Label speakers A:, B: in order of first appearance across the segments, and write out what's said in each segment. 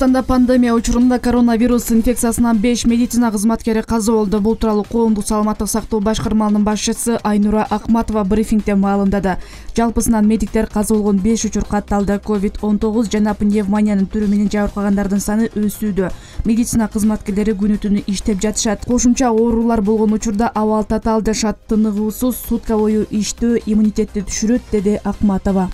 A: Кыргызстанда пандемия учурунда коронавирус инфекциясынан 5 медицина кызматкери каза болду. Бул тууралуу коомдук саламаттык сактоо башкармалынын башчысы Айнура Акматова брифингде маалымдады. Жалпысынан медиктер каза болгон 5 учур катталды. COVID-19 жана пневмониянын түрү менен жабыркагандардын саны өсүүдө. Медицина кызматкерлери күнү-түнү иштеп жатышат. Кошумча оорулар болгон учурда абал татаалдашат. Тыныгуусуз сутка бою иштөө иммунитетти түшүрөт, деди Акматова.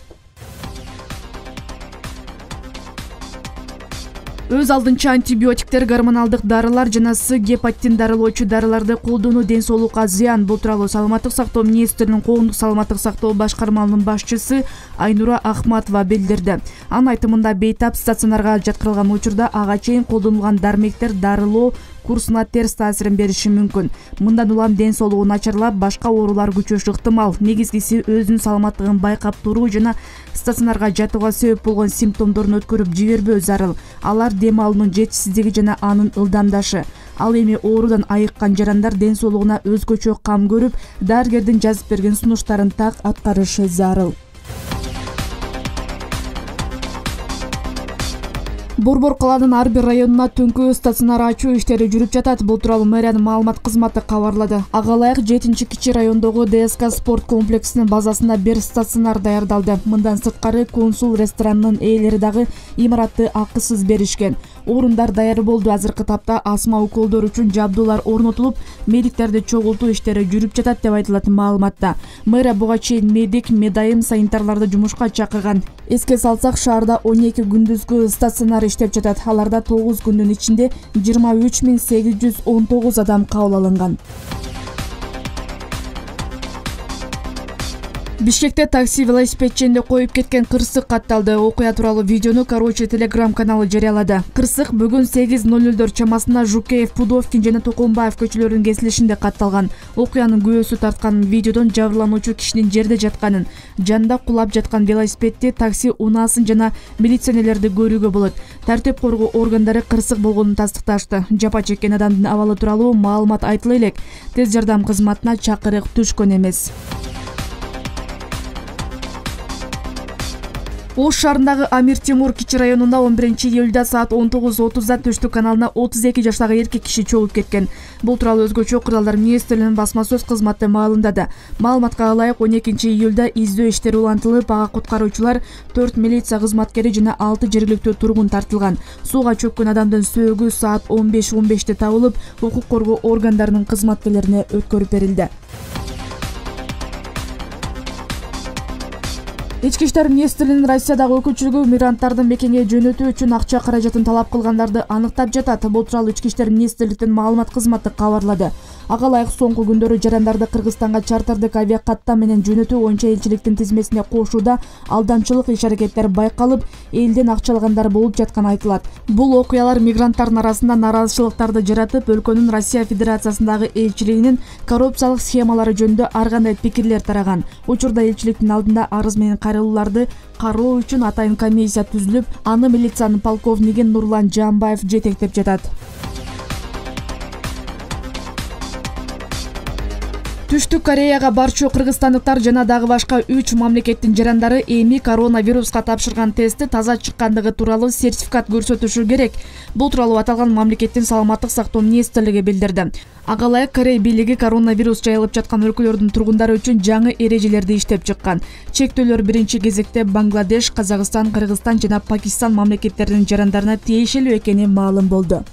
A: Өз алдынча антибиотиктер, гормоналдык дарылар жана С гепатитин дарылоочу дарыларды колдонуу ден соолукка зыян. Бул тууралуу саламаттык сактоо министринин коомдук саламаттык сактоо башкармалынын башчысы Айнура Акматова билдирди. Анын айтымында бейтап стационарга жаткырылган учурда ага чейин колдонулган дармектер дарылоо курсуна терс таасирин бериши мүмкүн. Мындан улам ден соолугу начарлап, башка оорулар күчөшү ыктымал. Негизгиси өзүнүн саламаттыгын байкап туруу жана стационарга жатууга себеп болгон симптомдорун өткөрүп жибербөө зарыл. Алар дем алуунун жетишсиздиги жана анын ылдамдашы. Ал эми оорудан айыккан жарандар ден соолугуна өзгөчө кам көрүп, дарыгердин жазып берген сунуштарын так аткарышы зарыл. Борбор калаанын ар бир районуна түнкү стационар ачуу иштери жүрүп жатат. Бул тууралуу мэриянын маалымат кызматы кабарлады. Ага ылайык 7-кичи райондогу ДСК спорт комплексинин базасында бир стационар даярдалды. Мындан сырткары консул ресторанынын ээлери дагы имаратты акысыз беришкен. Орундар даяр болду. Азыркы тапта астма уколдор үчүн жабдуулар орнотулуп, медиктерди чогултуу иштери жүрүп жатат деп айтылат маалыматта. Мэрия буга чейин медик, медайым, санитарларды жумушка чакырган. Эске салсак, шаарда 12 күндүзгү стационар иштеп жатат. Аларда 9 күндүн ичинде 23.819 адам кабыл алынган. Бишкекте такси велосипедченди коюп кеткен кырсык катталды. Окуя тууралуу видеону Короче Telegram каналы жарыялады. Кырсык бүгүн 8:00 чамасында Жукеев, Пудовкин жана Токомбаев көчөлөрүнүн кесилишинде катталган. Окуянын күбөсү тарткан видеодон жабырлануучу кишинин жерде жатканын, жанында кулап жаткан велосипедти, такси унаасын жана милиционерлерди көрүүгө болот. Тартип коргоо органдары кырсык болгонун тастыкташты. Жапа чеккен адамдын абалы тууралуу маалымат айтыла элек. Тез жардам кызматына чакырык түшкөн эмес. Ош шаарындагы Амир Темур кичи районунда 11-июлда саат 19:30 Түштүк каналына 32 жаштагы эркек киши чогуп кеткен. Бул тууралуу Өзгөчө кырдаалдар министрлигинин басма сөз кызматы маалымдады. Маалыматка ылайык 12-июлда издөө иштери улантылып, ага куткаруучулар, 4 милиция кызматкери жана 6 жергиликтүү тургун тартылган. Сууга чөккөн адамдын сөөгү саат 15:15 табылып, укук коргоо органдарынын кызматкерлерине өткөрүп берилди. Ички иштер министрлигинин Россиядагы өкүлчүлүгү мигранттардын мекенге жөнөтүү үчүн акча каражатын талап кылгандарды аныктап жатат. Бул тууралуу Ички иштер министрликтин маалымат кызматы кабарлады. Ага ылайык соңку күндөрү жарандарды Кыргызстанга чартардык авиакаттам менен жөнөтүү боюнча элчиликтин тизмесине кошууда алдамчылык иш-аракеттер байкалып, элден акча алгандар болуп жатканы айтылат. Бул окуялар мигранттардын арасында нараазычылыктарды жаратып, өлкөнүн Россия Федерациясындагы элчилигинин коррупциялык схемалары жөнүндө ар кандай пикирлер тараган. Учурда элчиликтин алдында арыз менен кайрылууларды кароо үчүн атайын комиссия түзүлүп, аны милициянын полковниги Нурлан Жамбаев жетектеп жатат. Түштүк Кореяга барчу кыргызстандыктар жана дагы башка 3 мамлекеттин жарандары эми коронавируска тапшырган тести таза чыккандыгы тууралуу сертификат көрсөтүшү керек. Бул тууралуу аталган мамлекеттин саламаттык сактоо министрлиги билдирди. Ага ылайык Корей бийлиги коронавирус жайылып жаткан өлкөлөрдүн тургундары үчүн жаңы эрежелерди иштеп чыккан. Чектөөлөр биринчи кезекте Бангладеш, Казакстан, Кыргызстан жана Пакистан мамлекеттеринин жарандарына тиешелүү экени маалым болду.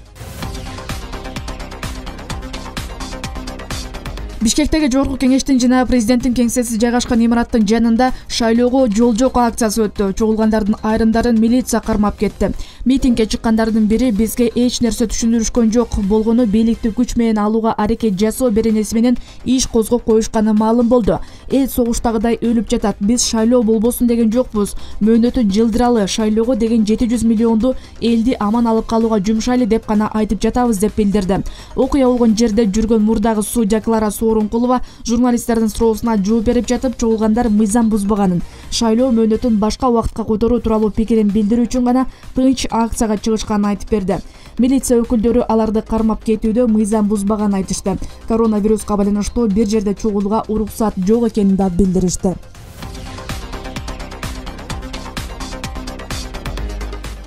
A: Бишкектеги Жогорку кеңештин жана президенттин кеңсеси жайгашкан имараттын жанында шайлоого жол жок акциясы өттү. Чогулгандардын айрымдарын милиция кармап кетти. Митингге чыккандардын бири бизге эч нерсе түшүндүрүшкөн жок, болгону бийликти күч менен алууга аракет жасоо беренеси менен иш козгоп коюшканы маалым болду. Эл согуштагыдай өлүп жатат. Биз шайлоо болбосун деген жокпуз. Мөөнөтүн жылдыралы, шайлоого деген 700 миллионду элди аман алып калууга жумшайлы деп гана айтып жатабыз деп билдирди. Окуя болгон жерде жүргөн мурдагы судья Клара Сооронкулова журналисттердин суроосуна жооп берип жатып, чогулгандар мыйзам бузбаганын, шайлоо мөөнөтүн башка убакытка которуу тууралуу пикирин билдирүү үчүн гана тынч акцияга чыгышканын айтып берди. Милиция өкүлдөрү аларды кармап кетүүдө мыйзам бузбаганын айтышты. Коронавируска байланыштуу бир жерде чогулууга уруксат жок экенин да билдиришти.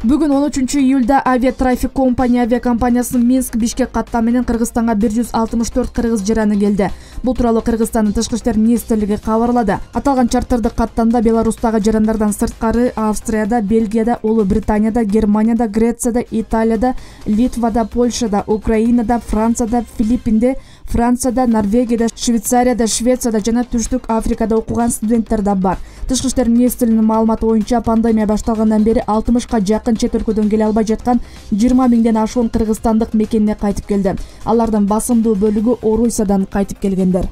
A: Бүгүн 13-июлда Авиатрафик компания авиакомпаниясынын Минск-Бишкек каттам менен Кыргызстанга 164 кыргыз жараны келди. Бул тууралуу Кыргызстандын тышкы иштер министрлиги кабарлады. Аталган чартердик каттамда Беларустагы жарандардан сырткары Австрияда, Бельгияда, Улуу Британияда, Германияда, Грецияда, Италияда, Литвада, Польшада, Украинада, Францияда, Филиппинде, Францияда, Норвегияда, Швейцарияда, Швецияда жана Түштүк Африкада окуган студенттер да бар. Тышкы иштер министрлигинин маалыматы боюнча пандемия башталгандан бери 60ка жакын чет өлкөдөн келе албай жаткан 20 миңден ашуун кыргызстандык мекенине кайтып келди. Алардын басымдуу бөлүгү Орусиядан кайтып келгендер.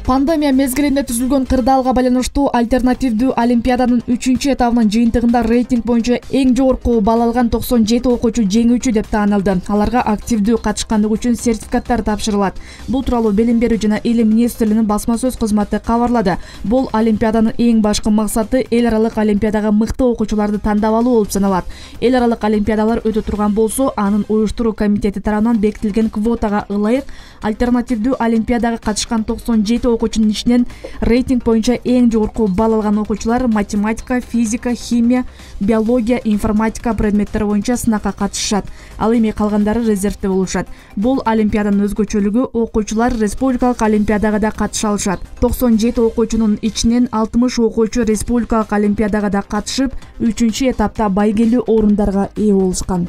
A: Пандемия мезгилинде түзүлгөн кырдаалга байланыштуу альтернативдүү олимпиаданын 3-чү этабынын жыйынтыгында рейтинг боюнча эң жогорку балл алган 97 окуучу жеңүүчү деп таанылды. Аларга активдүү катышкандыгы үчүн сертификаттар тапшырылат. Бул тууралуу Билим берүү жана Илим министрлигинин басма сөз кызматы кабарлады. Бул олимпиаданын эң башкы максаты эл аралык олимпиадага мыкты окуучуларды тандап алуу болуп саналат. Эл аралык олимпиадалар өтө турган болсо, анын уюштуруу комитети тарабынан бекитилген квотага ылайык альтернативдүү олимпиадага катышкан 97 окуучунун ичинен рейтинг боюнча эң жогорку балл алган окуучулар математика, физика, химия, биология, информатика предметтери боюнча сынакка катышышат. Ал эми калгандары резервде болушат. Бул олимпиаданын өзгөчөлүгү окуучулар республикалык олимпиадага да катыша алышат. 97 окуучунун ичинен 60 окуучу республикалык олимпиадага да катышып, 3-этапта байгелүү орундарга ээ болушкан.